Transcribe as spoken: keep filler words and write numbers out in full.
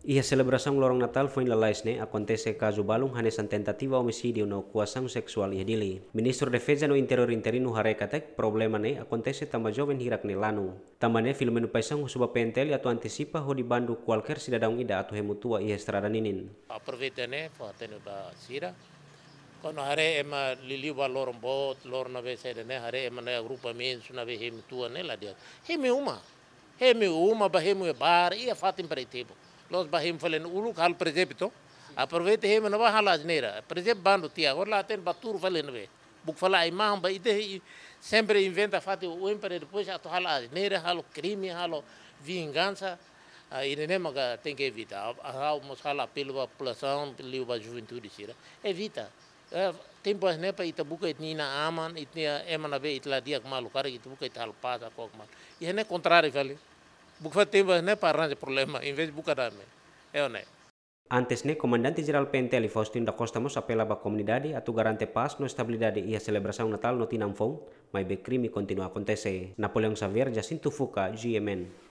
Iha selebrasaun loron Natál foin lalais ne'e akontese kazu balun hanesan tentativa omisídiu no koasaun seksuál iha Dili. Ministru Defeza no Interiór interinu haree katak problema ne'e akontese tanba joven hirak ne'e lanu. Tanba ne'e Filomeno Paixão husu ba P N T L atu antisipa hodi bandu kualkér sidadaun ida atu hemu tua iha estrada ninin. Aproveita ne'e fó-hatene ba sira. Kuandu haree ema liuliu ba loron boot, loron ne'ebé saida ne'e, haree ema ne'e agrupamentu ne'ebé hemu tua ne'e la di'ak. Hemu uma. Hemu uma, bá hemu iha bar, iha fatin para ita hemu. La'ós bá hemu fali ne'e uluk halo prezeptu. Aproveita hemu ne'ebá halo asneira. Prezeptu bandu tiha, agora la hatene bá tuur fali ne'ebé. Buka fali ai-mahon ba ita, i sempre inventa fatin oioin para depois atu halo asneira, halo krime, halo vingansa. Ah, ida-ne'e maka tenke evita. Ah, ah, mós halo apelu ba populasaun, liu ba juventude sira. Evita. Eh, tempu hanesan ne'e para ita buka ita-nia inan-aman, ita-nia ema ne'ebé ita la di'ak malu, karik ita buka ita halo pás, akok malu. Iha ne'e kontráriu fali. Buka fali tempu hanesan ne'e para arranja problema, envezde buka dame. É ou não é? Antes ne'e, Komandante Jerál P N T L Faustino da Costa mós apela ba komunidade atu garante pás no estabilidade iha selebrasaun Natál no tinan foun, maibé krime kontinua akontese. Napoleão Xavier, Jacinto Fuca, G M N.